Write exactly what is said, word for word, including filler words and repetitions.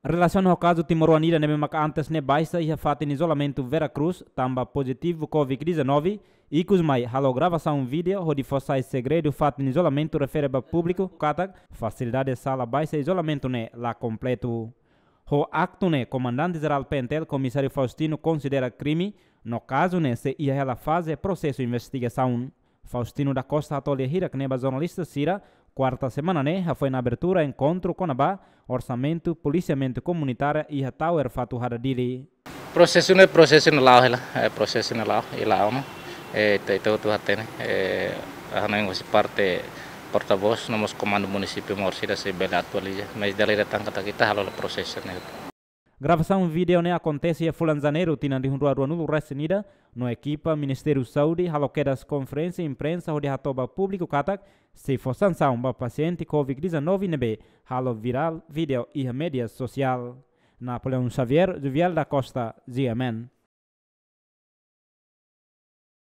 Relasiona ho kazu timoroan ida ne'ebé maka antes ne'e baixa iha fatin izolamentu Vera Cruz, tanba pozitivu Covid dezanove, ikus mai halo gravasaun vídeo hodi fó sai segredu fatin izolamentu refere ba públiku katak fasilidade sala baixa izolamentu ne'e la kompletu. Ho aktu ne'e, Komandante Jerál P N T L Komisáriu Faustino konsidera krime, no kazu ne'e sei iha hela faze prosesu investigasaun. Faustino da Costa hato'o lia hirak ne'e ba jornalista sira, kuarta semana ne'e, hafoin abertura enkontru kona-ba orsamentu polisiamentu komunitária iha Tower Fatuhada Dili. Prosesu ne'e, prosesu ne'e la'o hela, eh, prosesu ne'e la'o, i la'o ona. Eh, ita, ita hotu hatene, eh, hanoin husi parte portavós, no mós komandu munisípiu Maorsida sei bele atualiza. Mas dala ida tan katak ita halo hela prosesu ne'e. Gravasaun vídeo ne'e akontese iha fulan Janeiru tinan rihun rua ruanulu resin ida, no ekipa Ministériu Saúde halo kedas konferénsia imprensa hodi hato'o ba públiku katak sei fó sansaun ba pasiente Covid dezanove ne'ebé halo virál vídeo iha média sosiál. Napoleão Xavier, Juvial da Costa, G M N.